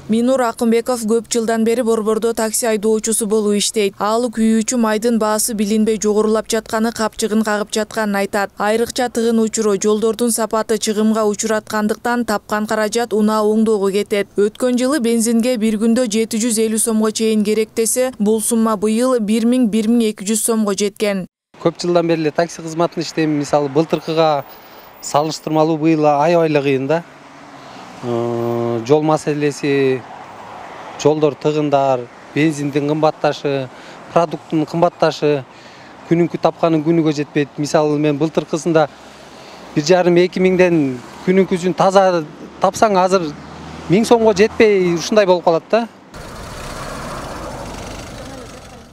Минур Акымбеков көп жылдан бери Борбордо такси айдоочусу болуп иштейт. Ал күйүүчү майдын баасы билинбей жогорулап жатканы капчыгын кагып жатканын айтат. Айрыкча тыгын учуру жолдордун сапаты чыгымга учураткандыктан тапкан каражат унаа оңдоого кетет. Өткөн жылы бензинге бир күндө 750 сомго чейин керек десе, бул сумма быйыл 1000–1200 сомго жеткен. Көп жылдан бери такси кызматын иштейм. Мисалы былтыркыга салыштырмалуу быйыл аябай кыйын да. Жол маселеси, жолдор тыгындар, бензиндин кымбатташы, продукттун кымбатташы, күнүнкү тапканын күнүгө жетпейт. Мисалы мен былтыркысында 1,5–2 миңден күнүнкүсүн таза тапсаң азыр 1000 сомго жетпей ушундай болуп калат да.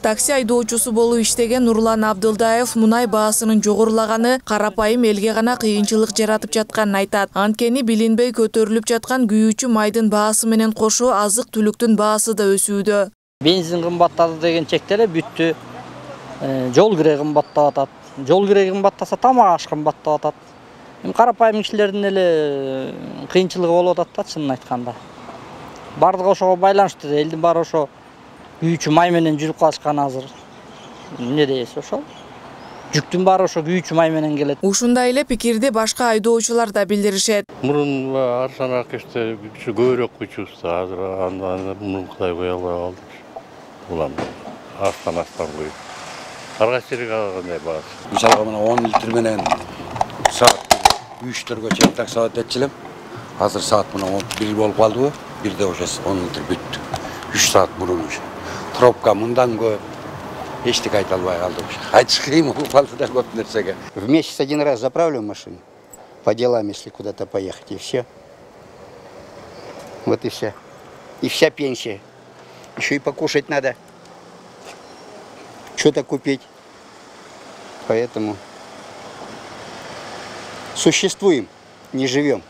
Такси айдоочусу болуп иштеген Нурлан Абдылдаев мунай баасынын жогорулаганы карапайым элге гана кыйынчылык жаратып жатканын айтат. Анткени билинбей көтөрүлүп жаткан күйүүчү майдын баасы менен кошо азык-түлүктүн баасы да өсүүдө. Бензин кымбаттады деген чекте эле бүттү. Жол кире кымбаттап атат. Жол кире кымбаттаса тамак аш кымбаттап атат. Карапайым кишилердин эле кыйынчылыгы болуп атат да, чынын айтканда. Бардыгы ошого байланыштуу, элдин баары ошо күйүүчү май менен жүрүп калышкан азыр. Эмне дейсиз ошол? Жүктүн баары ошо күйүүчү май менен келет. Ушундай эле пикирди башка айдоочулар да билдиришет. Мурун арзан акча көбүрөөк кучубуз, азыр мурун кудай кое албай калдык. Улам астан коюп. Ар кайсы жерге кандай баасы. Мисалга мына 10 литр менен саат 3-4гө чейин такси алып элем. Азыр саат мына 1 болуп калдыбы? Бирде ошо 10 литр бүттү. 3 саат мурун ушу. Пробка мындан көп. Эчтеке айта албай калдык ушу. Айтыш кыйын болуп калды да көп нерсеге. В месяц один раз заправлю машину по делам, если куда-то поехать, и все. Вот и все. И вся пенсия. Еще и покушать надо. Что-то купить. Поэтому существуем, не живем.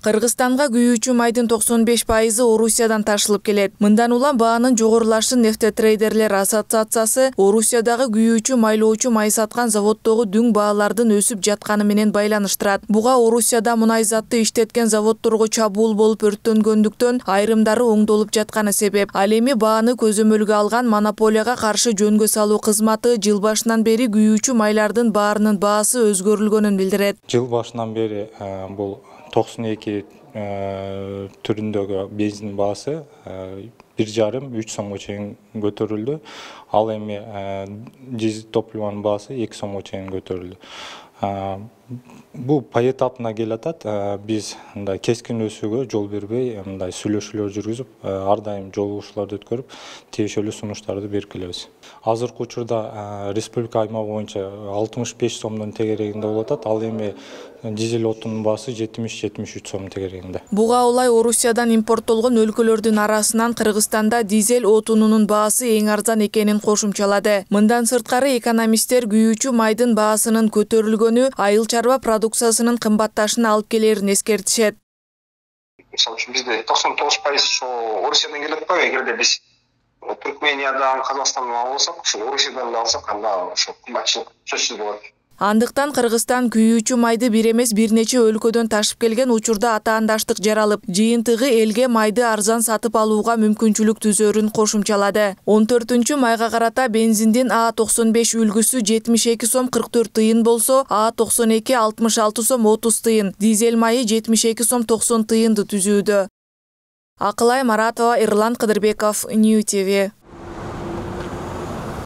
Кыргызстанга күйүүчү майдын 95% Орусиядан ташылып келет. Мындан улам баанын жогорулашын нефтетрейдерлер ассоциациясы Орусиядагы күйүүчү майлоочу май саткан заводдогу дүң баалардын өсүп жатканы менен байланыштырат. Буга Орусияда мунай затты иштеткен заводдорго чабуул болуп өрттөнгөндүктөн айрымдары оңдолуп жатканы себеп. Ал эми бааны көзөмөлгө алган монополияга каршы жөнгө салуу кызматы жыл башынан бери күйүүчү майлардын баарынын баасы өзгөрүлгөнүн билдирет. Жыл башынан бери бул 92 түрүндөгү бензин баасы 1,5–3 сомго чейин көтөрүлдү. Ал эми дизель топлованын баасы 2 сомго чейин көтөрүлдү. Бул поэтапна келатат. Биз мындай кескин өсүүгө жол бербей, мындай сүйлөшүүлөр жүргүзүп, ар дайым жолугушууларды өткөрүп, тийиштүү сунуштарды берип келебиз. Азыркы учурда республика аймагы боюнча 65 сомдун тегерегинде болуп атат. Ал эми дизель отунун баасы 70–73 сом тегерегинде. Буга улай Орусиядан импорттолгон өлкөлөрдүн арасынан Кыргызстанда дизель отунунун баасы эң арзан экенин кошумчалады. Мындан сырткары экономисттер күйүүчү майдын баасынын көтөрүлгөнү айыл чарба продукциясынын кымбатташына алып келерин эскертишет. Мисалы үчүн бизде 99% ошо Орусиядан келет го. Эгерде биз Түркмениядан, Казакстандан алсак, ошо Орусиядан алсак, анда ошо кымбатчылык сөзсүз болот. Андыктан Кыргызстан күйүүчү майды бир эмес бир нече өлкөдөн ташып келген учурда атаандаштык жаралып, жыйынтыгы элге майды арзан сатып алууга мүмкүнчүлүк түзөрүн кошумчалады. 14-майга карата бензиндин А95 үлгүсү 72 сом 44 тыйын болсо, А92 66 сом 30 тыйын, дизель майы 72 сом 90 тыйынды түзүүдө. Акылай Маратова, Эрлан Кыдырбеков, Нью ТВ.